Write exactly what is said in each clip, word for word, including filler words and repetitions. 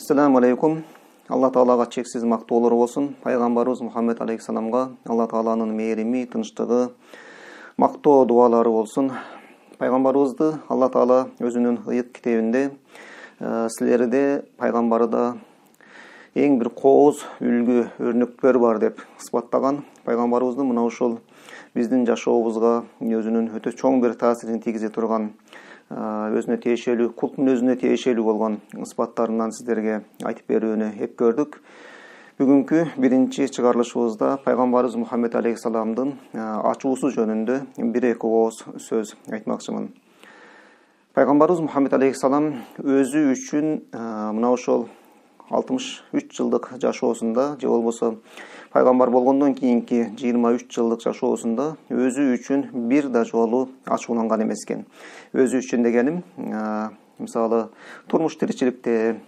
Assalamu alaikum. Allah Taalaga чексиз мактоолор болсун. Пайгамбарыбыз Мухаммед алейхиссаламга Алла Тааланын мээрими, тынчтыгы, мактоо дуалары болсун. Пайгамбарыбызды Алла Таала өзүнүн ыйык китебинде силерде пайгамбарда эң бир кооз үлгү өрнөктөр бар деп ысбаттаган. Пайгамбарыбыздын мына ушул биздин жашообузга өзүнүн өтө чоң бир таасирин тийгизе турган, өзүнө тиешелүү, кулдун өзүнө тиешелүү болгон ысбаттарынан сиздерге айтып берүүнү эп көрдүк. Бүгүнкү биринчи чыгарылышыбызда пайгамбарыбыз Мухаммед алейхиссаламдын ачуусу жөнүндө бир эки ооз сөз айтмакчымын. Пайгамбарыбыз Мухаммед алейхиссалам өзү үчүн мына ошол алтымыш үч жылдык жашоосунда, же болбосо пайгамбар болгондон кийинки жыйырма үч жылдык жашоосунда өзү үчүн бир да жолу ачууланган эмес экен. Өзү үчүн дегеним, мисалы, турмуш тиричиликте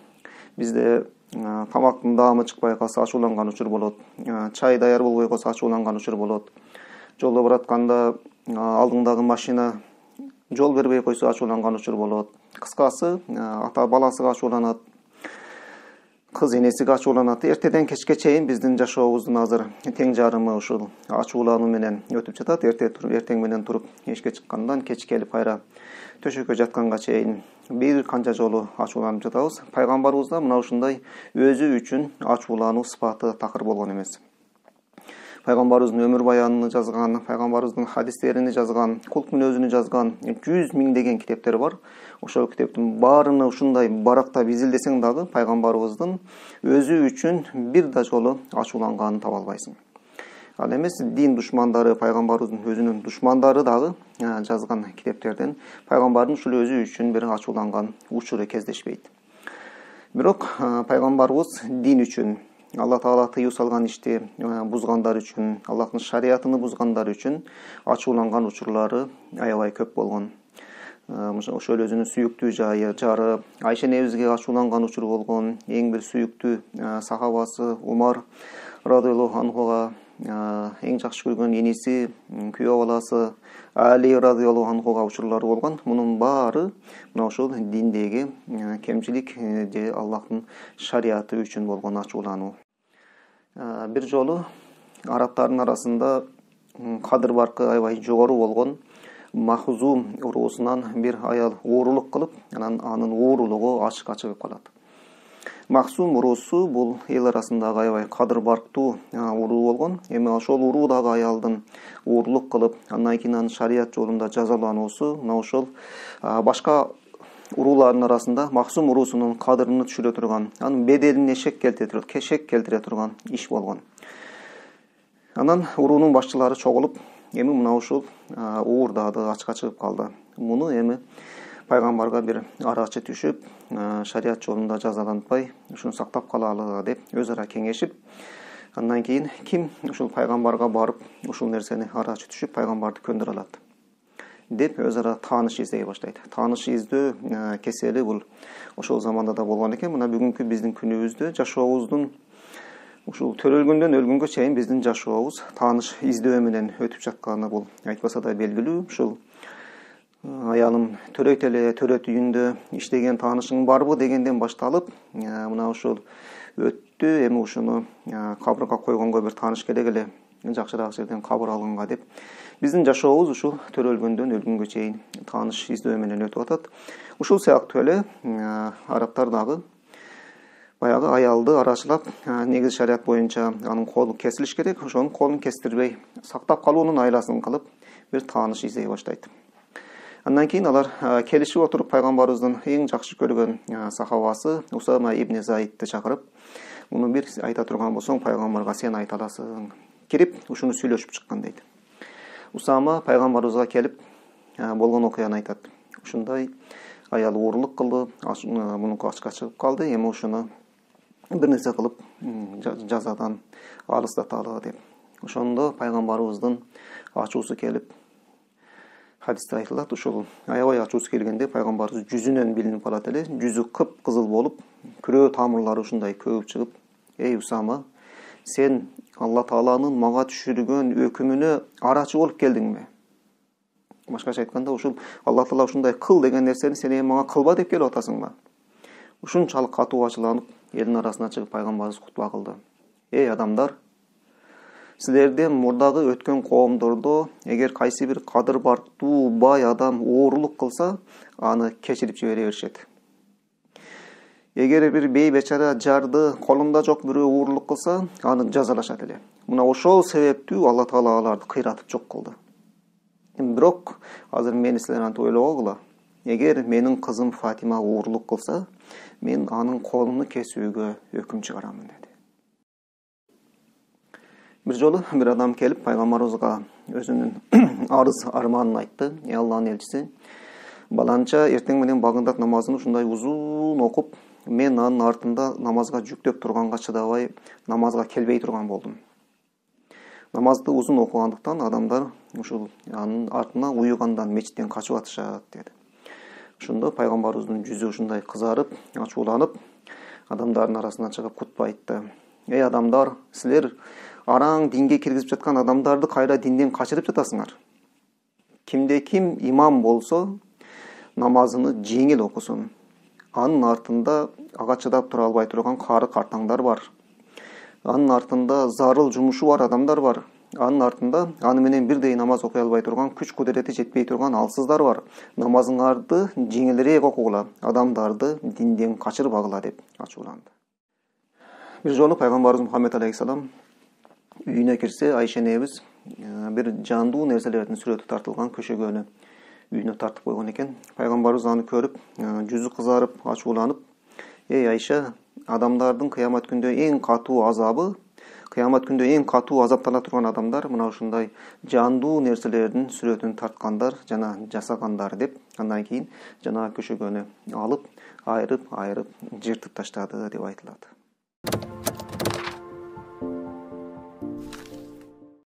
бизде тамактын даамы чыкпай калса ачууланган учур болот. Чай даяр болбой калса ачууланган учур болот. Жолдо баратканда алдыңдагы машина жол бербей койсо ачууланган учур болот. Кыскасы, ата баласыга ачууланат, кыз энесиге ачууланат. Эртеден кечке чейин биздин жашообуздун азыр тең жарымы ушул ачуулануу менен өтүп жатат. Эрте туруп, эртең менен туруп эшикке чыккандан кеч келип кайра төшөккө жатканга чейин бир канча жолу ачууланып жатабыз. Пайгамбарыбызда мына ушундай өзү үчүн ачуулануу сыпаты такыр болгон эмес. Пайгамбарыбыздын өмүр баянын жазган, пайгамбарыбыздын хадистерин жазган, кулдун өзүнү жазган жүз миңдеген китептер бар. Ошол китептин баарыны ушундай барактап изилдесең дагы пайгамбарыбыздын өзү үчүн бир да жолу ачууланганын таба албайсың. Ал эмес, дин душмандары, пайгамбарыбыздын өзүнүн душмандары дагы жазган китептерден пайгамбардын ушул өзү үчүн бир ачууланган учуру кездешпейт. Бирок пайгамбарыбыз дин үчүн, Алла Таала тыюу салган ишти бузгандар үчүн, Аллахтын шариятын бузгандар үчүн ачууланган учурлары аябай көп болгон. Ошол өзүнүн сүйүктүү жайы, жары Айша энебизге ачууланган учур болгон. Эң бир сүйүктүү сахабасы Умар радыйаллаху анхуга эң жакшы көргөн эниси, күйөө баласы Али радыйаллаху анхуга учурлары болгон. Мунун баары мына ошол диндеги кемчилик же Аллахтын шариаты үчүн болгон ачуулануу. Бир жолу арабтардын арасында кадыр баркы аябай жогору болгон Махзум уруусунан бир аял уурулук кылып, анан анын уурулугу ачыкка чыгып калат. Махзум уруусу бул эл арасындагы аябай кадыр барктуу уруу болгон. Эми ошол уруудагы аялдын уурулук кылып, андан кийин анын шарият жолунда жазалануусу мына ошол башка уруулардын арасында Махзум уруусунун кадырын түшүрө турган, анын беделине шек келтире, кешек келтире турган иш болгон. Анан уруунун башчылары чогулуп, эми мына ушул уурдады, ачка чыгып калды. Муну эми пайгамбарга бир арачы түшүп, шарият жолунда жазаланбай, ушуну сактап калалы деп өз ара кеңешип, андан кийин ким ушул пайгамбарга барып, ушул нерсени арачы түшүп пайгамбарды көндүрө алат деп өз ара тааныш издей баштайт. Тааныш издөө кесели бул ошол заманда да болгон экен. Мына бүгүнкү биздин күнүбүздө жашообуздун ушул төрөлгөндөн өлгөнгө чейин биздин жашообуз тааныш издөө менен өтүп жатканы бул айтпаса да белгилүү. Ушул аялым төрөйт эле, төрөт үйүндө иштеген таанышың барбы дегенден башталып, мына ушул өттү, эми ушуну кабырга койгонго бир тааныш керек эле, жакшыраак жерден кабыр алганга деп биздин жашообуз ушул төрөлгөндөн өлгөнгө чейин тааныш издөө менен өтүп атат. Ушул сыяктуу эле арабтар дагы баягы аялды арачылап, негизи шарият боюнча анын колу кесилиш керек, ошонун колун кестирбей сактап калуунун айласын кылып бир тааныш издей баштайт. Андан кийин алар келишип отуруп пайгамбарыбыздын эң жакшы көргөн сахабасы Усама ибн Заидти чакырып, муну бир айта турган болсоң пайгамбарга сен айта аласың, кирип ушуну сүйлөшүп чыккан дейт. Усама пайгамбарыбызга келип болгон окуяны айтат. Ушундай аял уурулук кылды, мунуку ачка чыгып калды, эми ушуну бир нерсе кылып жазадан алыстаталы деп. Ошондо пайгамбарыбыздын ачуусу келип, хадисте айтылат, ушул аябай ачуусу келгенде пайгамбарыбыз жүзүнөн билинип калат эле, жүзү кып-кызыл болуп, күрөө тамырлары ушундай көбүп чыгып, "Эй Усама, сен Алла Тааланын мага түшүргөн өкүмүнө арачы болуп келдиңби?" Башкача айтканда, ушул Алла Таала ушундай кыл деген нерсени сен эми мага кылба деп келип атасыңбы? ушунчалык катуу ачууланып элдин арасына чыгып пайгамбарыбыз кутба кылды. Эй адамдар, силерден мурдагы өткөн коомдордо эгер кайсы бир кадыр бартуу бай адам оорулук кылса, аны кечирип жибере беришет. Эгер бир бей бечара жарды колунда жок бирөө оорулук кылса, аны жазалашат эле. Мына ошол себептүү Алла Таала аларды кыйратып жок кылды. Бирок азыр мени силер антип ойлогула. Эгер менин кызым Фатима оорулук кылса, мен анын колуну кесүүгө өкүм чыгарамын деди. Бир жолу бир адам келип пайгамбарыбызга өзүнүн арыз арманын айтты. Эй Алланын элчиси, баланча эртең менен багындат намазын ушундай узун окуп, мен анын артында намазга жүктөп турганга чыдабай намазга келбей турган болдум. Намазды узун окугандыктан адамдар ушул анын артына уюгандан мечиттен качып атышат деди. Ошондо пайгамбарыбыздын жүзү ушундай кызарып, ачууланып, адамдардын арасына чыгып кутба айтты. Эй адамдар, силер араң динге киргизип жаткан адамдарды кайра динден качырып жатасыңар. Кимде ким имам болсо, намазыны жеңил окусун. Анын артында ага чыдап тура албай турган кары картаңдар бар. Анын артында зарыл жумушу бар адамдар бар. Анын артында аны менен бирдей намаз окуй албай турган, күч кудурети жетпей турган алсыздар бар. Намазыңарды жеңилирээк окугула, адамдарды динден качырбагыла деп ачууланды. Бир жолу пайгамбарыбыз Мухаммед алейхиссалам үйүнө кирсе, Айша энебиз бир жандуу нерселердин сүрөтү тартылган көшөгөнү үйүнө тартып койгон экен. Пайгамбарыбыз аны көрүп, жүзү кызарып, ачууланып, эй Айша, адамдардын кыямат күндө эң катуу азабы, кыямат күндө эң катуу азаптана турган адамдар мына ушундай жандуу нерселердин сүрөтүн тарткандар жана жасагандар деп, андан кийин жана көшөгөнү алып, айрып, айрып жыртып таштады деп айтылат.